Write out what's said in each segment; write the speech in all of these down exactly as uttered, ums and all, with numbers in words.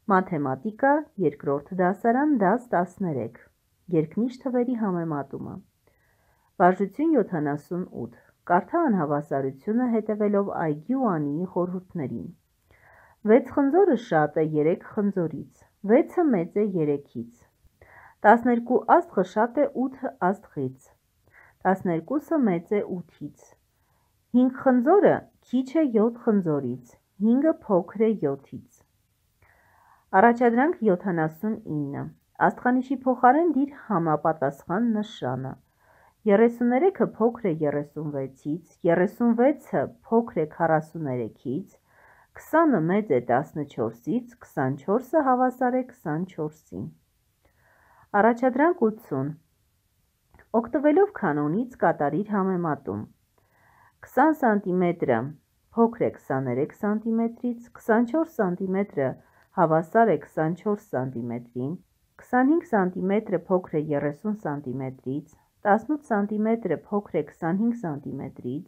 Մաթեմատիկա, երկրորդ դասարան, դաս տասներեք, երկնիշ թվերի համեմատումը, վարժություն յոթանասունութ, կարդա անհավասարությունը հետևելով այգի ու Անիի խորհուրդներին, վեց խնձորը շատ է երեք խնձորից, վեցը մեծ է երեքից, տասներկու աստղը շատ է ութ աստղից, տասներկուսը մեծ է ութից, հինգ խնձորը քիչ է յոթ խնձորից, հինգը փոքր է յոթից, առաջադրանք յոթանասունինը, աստղանիշի փոխարեն դիր համապատասխան նշանը, երեսուներեքը փոքր է երեսունվեցից, երեսունվեցը փոքր է քառասուներեքից, քսանը մեծ է տասնչորսից, քսանչորսը հավասար է քսանչորսին, առաջադրանք ութսուն, օգտվելով կանոնից կատարիր համեմատում, քսան սանտիմետրը փոքր է քսաներեք սանտիմետրից, քսանչորս սանտիմետրը հավասար է քսանչորս սանտիմետրին, քսանհինգ սանտիմետրը փոքր է երեսուն սանտիմետրից, տասնութ սանտիմետրը փոքր է քսանհինգ սանտիմետրից,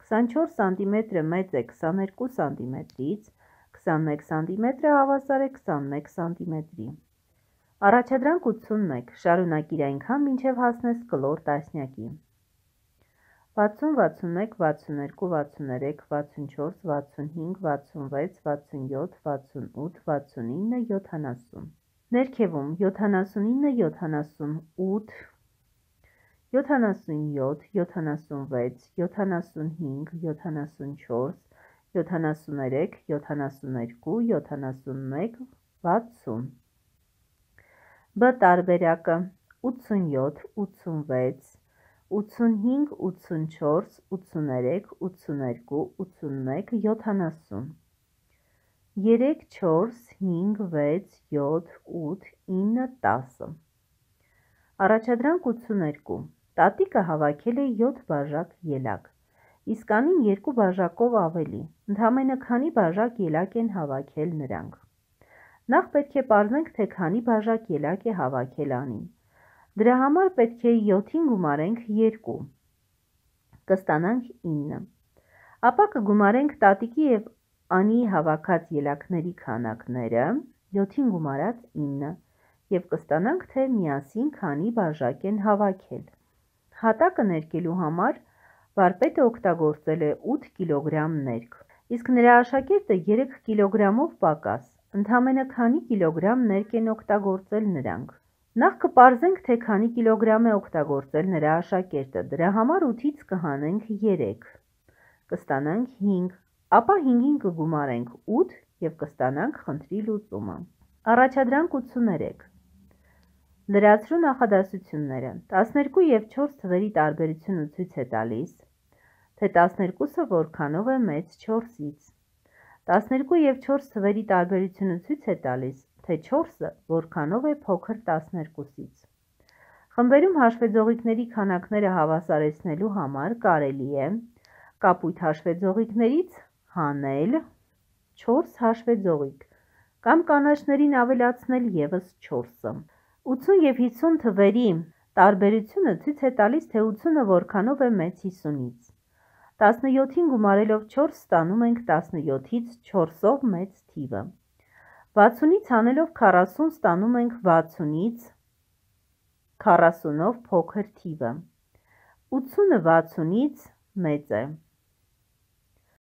քսանչորս սանտիմետրը մեծ է քսաներկու սանտիմետրից, քսանմեկ սանտիմետրը հավասար է քսանմեկ սանտիմետրի, առաջադրանք ութսունմեկ, շարունակիր այնքան մինչև հասնես կլոր տասնյակի, վաթսուն, վաթսունմեկ, վաթսուներկու, վաթսուներեք, վաթսունչորս, վաթսունհինգ, վաթսունվեց, վաթսունյոթ, վաթսունութ, վաթսունինը, յոթանասուն, ներքևում յոթանասունինը, յոթանասունութ, յոթանասունյոթ, յոթանասունվեց, յոթանասունհինգ, յոթանասունչորս, յոթանասուներեք, յոթանասուներկու, յոթանասունմեկ, վաթսուն, բ տարբերակը ութսունյոթ, ութսունվեց, ութսունհինգ, ութսունչորս, ութսուներեք, ութսուներկու, ութսունմեկ, յոթանասուն, երեք, չորս, հինգ, վեց, յոթ, ութ, ինը, տասը, առաջադրանք ութսուներկու, տատիկը հավաքել է յոթ բաժակ ելակ, իսկ Անին երկու բաժակով ավելի, ընդամենը քանի բաժակ ելակ են հավաքել նրանք, նախ պետք է պարզենք, թե քանի բաժակ ելակ է հավաքել Անին, դրա համար պետք է յոթին գումարենք երկու, կստանանք ինը, ապա կգումարենք տատիկի և Անիի հավաքած ելակների քանակները, յոթին գումարած ինը, և կստանանք, թե միասին քանի բաժակ են հավաքել, հատակը ներկելու համար վարպետը օգտագործել է ութ կիլոգրամ ներք, իսկ նրա աշակերտը երեք կիլոգրամով պակաս, ընդամենը քանի կիլոգրամ ներք են օգտագործել նրանք, նախ կպարզենք, թե քանի կիլոգրամ է օգտագործել նրա աշակերտը, դրա համար ութից կհանենք երեք, կստանանք հինգ, ապա հինգին կգումարենք ութ և կստանանք խնդրի լուծումը, առաջադրանք ութսուներեք, լրացրու նախադասությունները, տասներկու և չորս թվերի տարբերությունը ցույց է տալիս, թե տասներկուսը որքանով է մեծ չորսից, տասներկու և չորս թվերի տարբերությունը ցույց է տալիս, թե չորսը որքանով է փոքր տասներկուսից, խմբերում հաշվեձողիկների քանակները հավասարեցնելու համար կարելի է կապույտ հաշվեձողիկներից հանել չորս հաշվեձողիկ կամ կանաչներին ավելացնել ևս չորսը, ութսուն և հիսուն թվերի տարբերությունը ցույց է տալիս, թե ութսունը որքանով է մեծ հիսունից, տասնյոթին գումարելով չորս ստանում ենք տասնյոթից չորսով մեծ թիվը, վաթսունից հանելով քառասուն ստանում ենք վաթսունից քառասունով փոքր թիվը, ութսունը վաթսունից մեծ է։